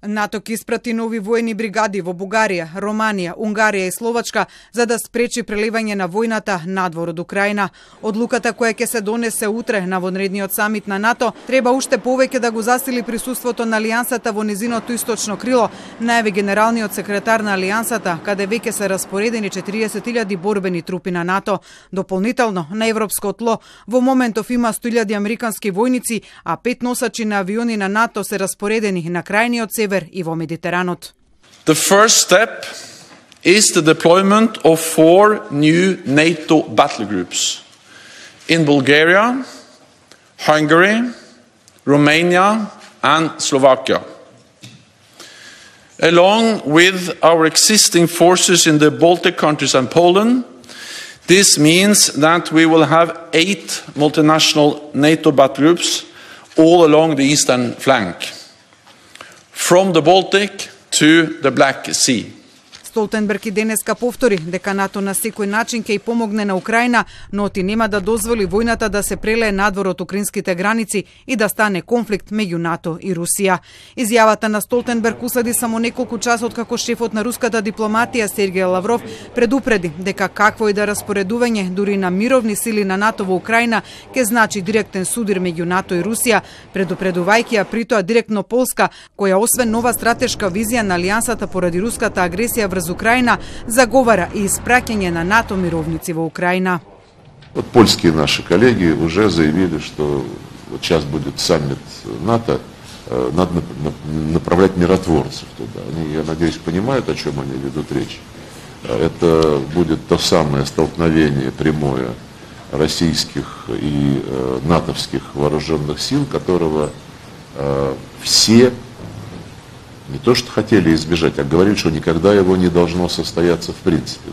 НАТО ќе испрати нови воени бригади во Бугарија, Романија, Унгарија и Словачка за да спречи прелевање на војната надвор од Украина. Одлуката која ќе се донесе утре на вонредниот самит на НАТО треба уште повеќе да го засили присуството на алијансата во низиното источно крило, најави генералниот секретар на алијансата, каде веќе се распоредени 40.000 борбени трупи на НАТО. Дополнително на европско тло во моментов има 100.000 американски војници, а 5 носачи на авиони на НАТО се распоредени на крајниот север и во Медитеранот. The first step is the deployment of 4 new NATO battle groups in Bulgaria, Hungary, Romania and Slovakia. Along with our existing forces in the Baltic countries and Poland, this means that we will have 8 multinational NATO battle groups all along the eastern flank, from the Baltic to the Black Sea. Столтенберг и денеска повтори дека НАТО на секој начин ќе и помогне на Украина, но оти нема да дозволи војната да се прелее надвор од украинските граници и да стане конфликт меѓу НАТО и Русија. Изјавата на Столтенберг уследи само неколку часа откако шефот на руската дипломатија Сергеј Лавров предупреди дека какво и да распоредување дури на мировни сили на НАТО во Украина ќе значи директен судир меѓу НАТО и Русија, предупредувајќи ја притоа директно Полска, која освен нова стратешка визија на алијансата поради руската агресија врз Украина, заговара и испраќање на НАТО мировници во Украина. Вот польские наши коллеги уже заявили, что вот сейчас будет саммит НАТО, надо направлять миротворцев туда. Они, я надеюсь, понимают, о чем они ведут речь. Это будет то самое столкновение прямое российских и натовских вооруженных сил, которого все не то что хотели избежать, а говорили, что никогда его не должно состояться в принципе.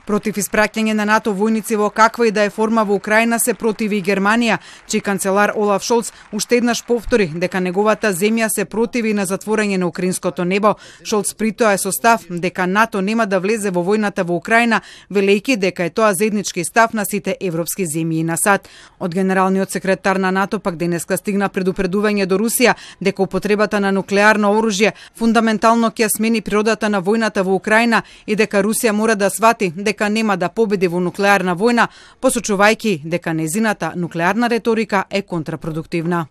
Против испраќање на НАТО војници во каква и да е форма во Украина се противи и Германија, чиј канцелар Олаф Шолц уште еднаш повтори дека неговата земја се противи на затворање на украинското небо. Шолц притоа е со став дека НАТО нема да влезе во војната во Украина, велејќи дека е тоа заеднички став на сите европски земји и на САД. Од генералниот секретар на НАТО пак денеска стигна предупредување до Русија дека употребата на нуклеарно оружје фундаментално ќе смени природата на војната во Украина и дека Русија мора да свати дека нема да победи во нуклеарна војна, посочувајќи дека незината нуклеарна реторика е контрапродуктивна.